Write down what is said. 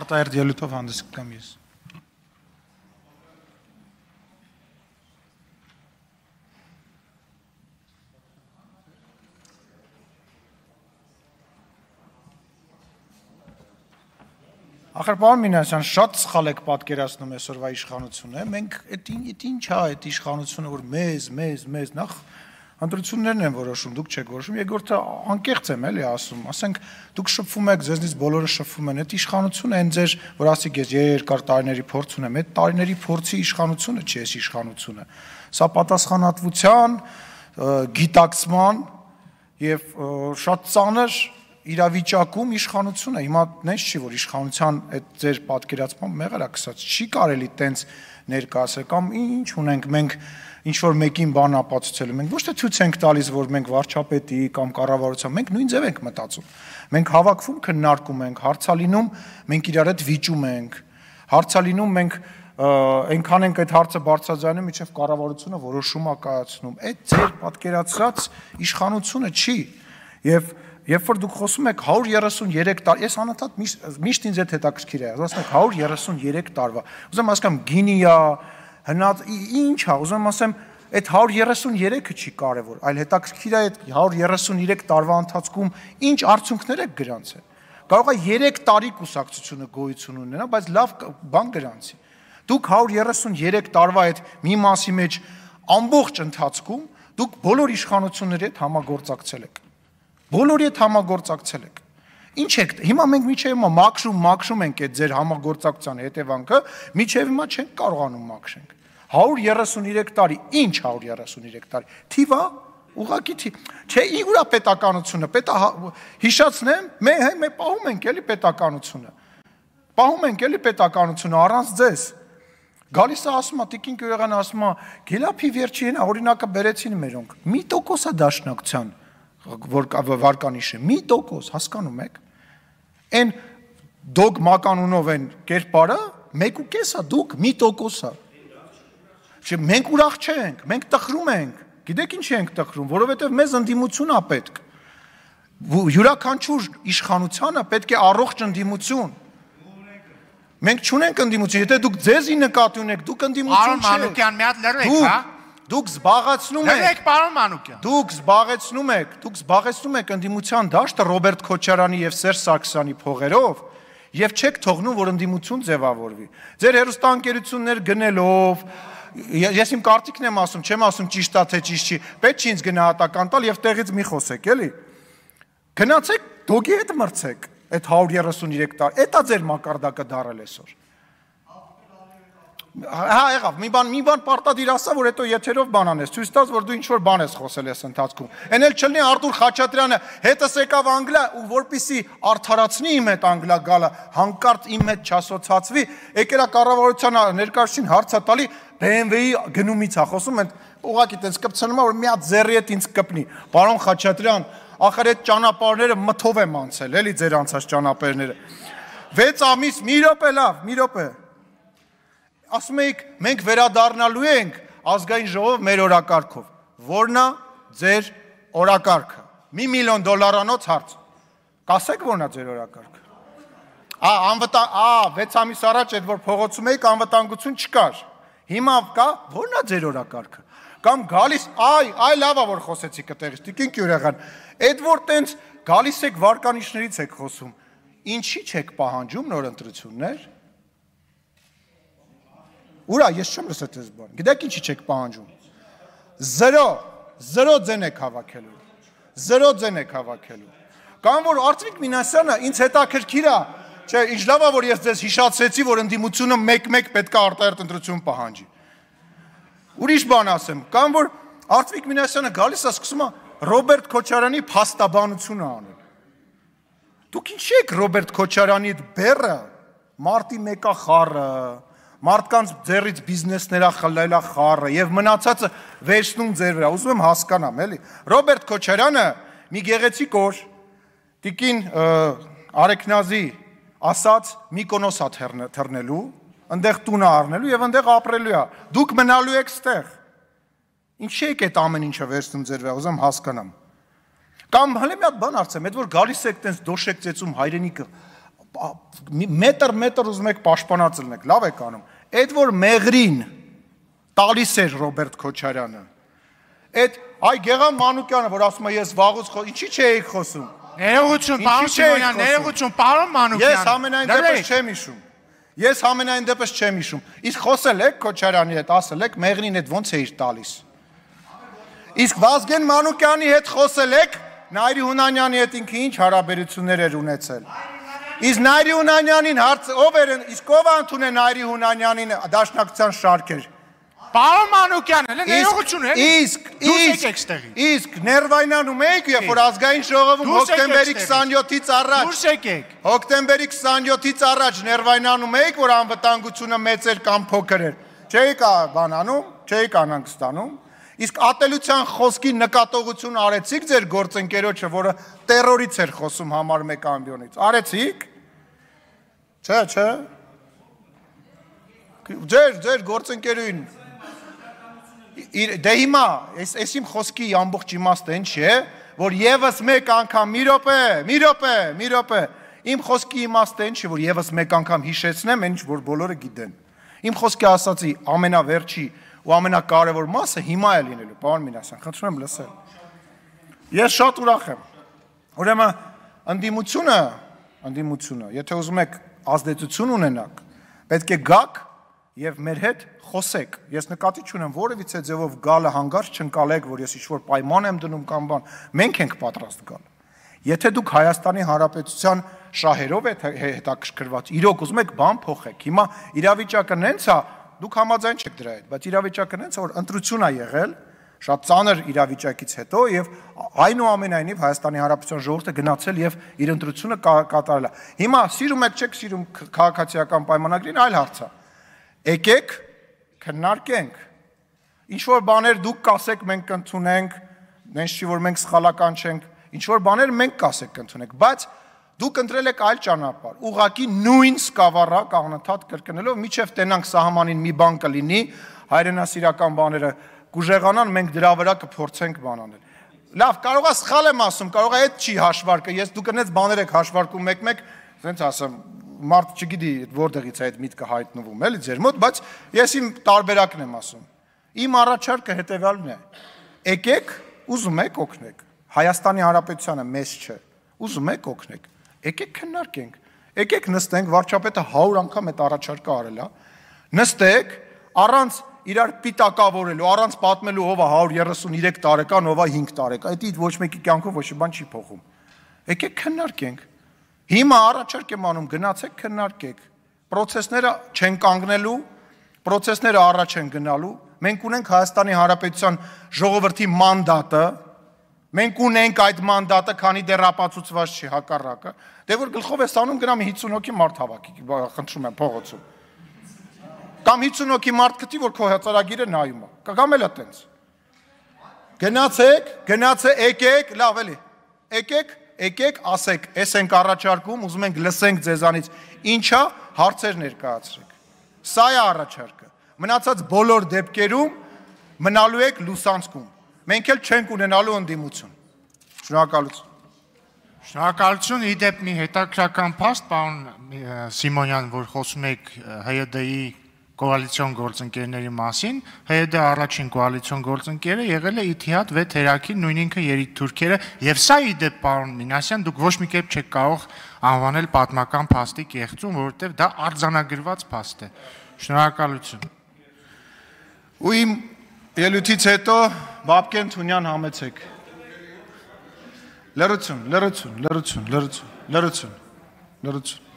Արտահերթ ելույթով հանդես կգամ ես։ Ախր պարոն Մինասյան, շատ սխալ եք պատկերացնում այսօրվա իշխանությունը, մենք այդ ինչ է այդ իշխանությունը, որ մեզ նախ ընտրություններն են որոշում, դուք չեք որոշում, երկրորդը անկեղծ եմ էլի ասում, ասենք դուք շփվում եք, ձեզնից բոլորը շփվում են, այդ իշխանությունը այն ձեր, որ ասիկ ես երկար տարիների փորձ ունեմ, այդ տարիների փորձի իշխանությունը չի այս իշխանությունը։ Սա պատասխանատվության, գիտակցման եւ շատ ծանր իրավիճակում իշխանությունը, հիմա նենց չի, որ իշխանության այդ ձեր պատկերացման մեղր է կսած, չի կարելի տենց ներկայացել, կամ ինչ ունենք մենք ինչ-որ մեկին բան ապացուցելու, մենք ոչ թե ցույց ենք տալիս, որ մենք վարչապետի կամ կառավարության, մենք նույն ձև ենք մտածում, մենք հավաքվում, քննարկում ենք, հարցալինում, մենք իրար հետ վիճում ենք, հարցալինում մենք այնքան ենք այդ հարցը բարձրաձայնում, մինչև կառավարությունը որոշում է կայացնում, այդ ձեր պատկերացրած իշխանությունը չի, եւ երբ որ դուք խոսում եք 133 տարի, ես անընդհատ միշտ ինձ այդ հետաքրքիր է, ասում եք 133 տարվա, ուզում ասեմ գինի է, հնած ինչ է, ուզում ասեմ այդ 133-ը չի կարևոր, այլ հետաքրքիր է այդ 133 տարվա ընթացքում ինչ արդյունքներ եք գրանցել։ Կարող է 3 տարի կուսակցությունը գոյություն ունենա, բայց լավ բան գրանցի։ Դուք 133 տարվա այդ մի մասի մեջ ամբողջ ընթացքում դուք բոլոր իշխանությունների հետ համագործակցել եք։ Բոլորի հետ համագործակցել եք։ Ինչ եք, հիմա մենք միջև հիմա մաքրում ենք այդ ձեր համագործակցության հետևանքը, միջև հիմա չենք կարողանում մաքրենք։ 133 տարի, ինչ 133 տարի։ Թիվ է, ուղղակի թիվ։ Չէ, ուրա պետականությունը, հիշացնեմ, մենք պահում ենք էլի պետականությունը։ Պահում ենք էլի պետականությունը առանց ձեզ։ Գալիս է ասում է, Տիկին Գյուղեղյանը ասում է, Գելափի վերջին օրինակը բերեցին մերոնք։ 1% է դաշնակցության որ վարկանիշ է, 1%, հասկանում եք, են դոգմականունով են կերպարը, 1.5 է, դուք 1%-ա, մենք ուրախ չենք, մենք տխրում ենք, գիտեք ինչ ենք տխրում, որովհետև մեզ ընդդիմություն է պետք, յուրաքանչյուր իշխանությանը պետք է առողջ ընդդիմություն, մենք չունենք ընդդիմություն, եթե դուք ձեզի նկատի ունեք, դուք ընդդիմություն չեք, Արոն Մանուկյան, մի հատ լրեք, հա? Դուք զբաղեցնում եք, Լրեք, պարոն Մանուկյան։ Դուք զբաղեցնում եք ընդդիմության դաշտը Ռոբերտ Քոչարյանի եւ Սերժ Սարգսյանի փողերով եւ չեք թողնում, որ ընդդիմություն ձևավորվի։ Ձեր հերոստանգերություններ գնելով, ես իմ կարծիքն եմ ասում, չեմ ասում ճիշտ է թե ճիշտ չի, պետք չի ինձ գնահատական տալ եւ տեղից մի խոսեք, էլի։ Գնացեք, դոգի հետ մրցեք այդ 133 տարի, էտա ձեր մակարդակը դարել այսօր։ Հա եղավ, մի բան պարտադիր ասա, որ հետո եթերով բան անես, ցույց տաս, որ դու ինչ-որ բան ես խոսել ես ընթացքում։ Էն էլ չլինի Արտուր Խաչատրյանը հետս եկավ Անգլիա ու որպեսի արդարացնի իմ հետ Անգլիա գալը, հանկարծ իմ հետ չասոցացվի, եկերա կառավարության ներկայացուցին հարցա տալի BMW-ի գնումից է խոսում, այդ ուղղակի տենց կպցնում է, որ մի հատ ձեռի հետ ինձ կպնի։ Պարոն Խաչատրյան, ախր այդ ճանապարհները մթով եմ անցել, էլի ձեր անցած ճանապարհները։ 6 ամիս, մի րոպե լավ, մի րոպե։ Ասում եք, մենք վերադառնալու ենք ազգային ժողով մեր օրակարգով, որն է ձեր օրակարգը, $1 միլիոն հարց, կասեք որն է ձեր օրակարգը, 6 ամիս առաջ այդ որ փողոցում էիք անվտանգություն չկար, հիմա կա, որն է ձեր օրակարգը, կամ գալիս, այ լավ է որ խոսեցիք այդտեղից, Տիկին Գյուղեղյան, այդ որ տենց գալիս եք վարկանիշներից եք խոսում, ինչի չեք պահանջում նոր ընտրություններ, Ուրա, ես չեմ լսել այս բան, գիտեք ինչի չեք պահանջում, 0 ձեն եք հավաքելու, 0 ձեն եք հավաքելու, կամ որ Արտվիկ Մինասյանը ինձ հետաքրքիր է, չէ, ինչ լավ է, որ ես ձեզ հիշացրեցի, որ ընդդիմությունը մեկ պետք է արտահերթ ընտրություն պահանջի, ուրիշ բան ասեմ, կամ որ Արտվիկ Մինասյանը գալիս է սկսում է Ռոբերտ Քոչարյանի փաստաբանությունը անել, դուք ինչի եք Ռոբերտ Քոչարյանի բեռը, մարտի 1-ա խառը, մարդկանց ձեռից բիզնեսներա խլելա խառը եւ մնացածը վերցնում ձեր վրա, ուզում եմ հասկանամ, էլի։ Ռոբերտ Քոչարյանը մի գեղեցիկ օր Տիկին Արեքնազի ասած Միկոնոս է թռնելու, այնտեղ տուն է առնելու եւ այնտեղ ապրելու է։ Դուք մնալու եք ստեղ։ Ինչի եք այդ ամեն ինչը վերցնում ձեր վրա, ուզում հասկանամ։ Կամ հələ մի հատ բան արծեմ, այդ որ գալիս եք տենց դոշեք ծեծում հայրենիքը մետր ուզում եք պաշտպանած լինեք, լավ եք անում։ Այդ որ մեղրին տալիս էր Ռոբերտ Քոչարյանը, այդ այ Գեղամ Մանուկյանը, որ ասում է ես վաղուց ինչի չէի խոսում։ Ներողություն, պարոն Սիմոնյան, ներողություն, պարոն Մանուկյան։ Ես ամենայն դեպս չեմ հիշում։ Իսկ խոսել եք Քոչարյանի հետ, ասել եք մեղրին հետ ոնց էիր տալիս։ Իսկ Վազգեն Մանուկյանի հետ խոսել եք, Նայիրի Հունանյանի հետ ինքը ինչ հարաբերություններ էր ունեցել։ Իսկ Նայիրի Հունանյանին ով էր, իսկ ով ընդունել Նայիրի Հունանյանին դաշնակցության շարքեր։ Պարոն Մանուկյան, ներողություն է։ Իսկ ներվայնանում եք, երբ որ ազգային ժողովում հոկտեմբերի 27-ից առաջ։ Դուրս եկեք։ Հոկտեմբերի 27-ից առաջ ներվայնանում եք, որ անվտանգությունը մեծ էր կամ փոքր էր։ Չէիք բանանում, չէիք անհանգստանում։ Իսկ ատելության խոսքի նկատողություն արեցիք ձեր գործընկերոջը, որը տերորից էր խոսում համար 1 ամբիոնից։ Արեցիք։ Չէ։ Ձեր գործընկերուին Դե հիմա, այս իմ խոսքի ամբողջ իմաստը ինչ է, որ եւս մեկ անգամ մի րոպե, իմ խոսքի իմաստը ինչ է, որ եւս մեկ անգամ հիշեցնեմ, ինչ որ բոլորը գիտեն։ Իմ խոսքի ասացի ամենավերջի ու ամենակարևոր մասը հիմա է լինելու, պարոն Մինասյան, խնդրում եմ լսել։ Ես շատ ուրախ եմ։ Ուրեմն ընդդիմությունը, եթե ուզում եք ազդեցություն ունենաք, պետք է գաք եւ մեր հետ խոսեք։ Ես նկատի չունեմ որևիցե ձևով գալը հանգարց չընկալեք, որ ես ինչ-որ պայման եմ դնում կամ բան։ Մենք ենք պատրաստ գալ։ Եթե դուք Հայաստանի Հանրապետության շահերով եք հետաքրքրված, իրոք ուզում եք բան փոխեք։ Հիմա իրավիճակը նենց է, դուք համաձայն չեք դրա հետ, բայց իրավիճակը նենց է, որ ընտրություն է եղել, շատ ծանր իրավիճակից հետո եւ այնուամենայնիվ Հայաստանի Հանրապետության ժողովուրդը գնացել եւ իր ընտրությունը կատարել է։ Հիմա սիրում եք, չեք սիրում քաղաքացիական պայմանագրին, այլ հարց է։ Եկեք քննարկենք։ Ինչ որ բաներ դուք կասեք մենք կընդունենք, նենց չի որ մենք սխալական չենք, ինչ որ բաներ մենք կասեք կընդունենք, բայց դուք ընտրել եք այլ ճանապարհ, ուղղակի նույն սկավառակ անընդհատ կրկնելով, միջև տենանք սահմանին մի բան կլինի, հայրենասիրական բաները կուժեղանան, մենք դրա վրա կփորձենք բան անել։ Լավ, կարող է սխալ եմ ասում, կարող է այդ չի հաշվարկը, ես դուք այնպես բաներ եք հաշվարկում մեկ-մեկ, ասենց ասեմ, մարդ չգիտի որտեղից է այդ միտքը հայտնվում, էլի ձեր մոտ, բայց ես իմ տարբերակն եմ ասում։ Իմ առաջարկը հետևյալն է. եկեք, ուզում եք օգնեք։ Հայաստանի Հանրապետությանը մեզ չէ։ Ուզում եք օգնեք։ Եկեք քննարկենք։ Եկեք նստենք, վարչապետը 100 անգամ այդ առաջարկը արել է։ Նստեք, առանց իրար պիտակավորելու, առանց պատմելու ով է 133 տարեկան, ով է 5 տարեկան։ Այդ ոչ մեկի կյանքով ոչ մի բան չի փոխում։ Եկեք քննարկենք։ Հիմա առաջարկ եմ անում, գնացեք քննարկեք։ Պրոցեսները չեն կանգնելու, պրոցեսները առաջ են գնալու։ Մենք ունենք Հայաստանի Հանրապետության ժողովրդի մանդատը, մենք ունենք այդ մանդատը, քանի դեռ ապացուցված չի հակառակը։ Դե որ գլխով ես անում, գնամ 50 հոգի մարդ հավաքի, խնդրում եմ փողոցում։ Կամ 50 հոգի մարդ գտի, որ քո հծարագիրը նայում է։ Կամ էլ է տենց։ Գնացեք, եկեք, լավ էլի։ Եկեք, ասեք, էս ենք առաջարկում, ուզում ենք լսենք ձեզանից, ինչա հարցեր ներկայացրեք։ Սա է առաջարկը։ Մնացած բոլոր դեպքերում մնալու եք լուսանցքում։ Մենք էլ չենք ունենալու ընդդիմություն։ Շնորհակալություն։ Շնորհակալություն, իդեպ մի հետաքրքրական փաստ, պարոն Սիմոնյան, որ խոսում եք ՀՅԴ-ի կոալիցիոն գործընկերների մասին, ՀՅԴ առաջին կոալիցիոն գործընկերը եղել է Իթիհադ 6 թերակի, նույն ինքը երիտթուրքերը, եւ սա իդեպ պարոն Մինասյան, դուք ոչ մի կերպ չեք կարող անվանել պատմական փաստի կեղծում, որովհետեւ դա արձանագրված փաստ է։ Շնորհակալություն։ Ու իմ ելույթից հետո Բաբկեն Թունյան համեցեք։ Լրություն։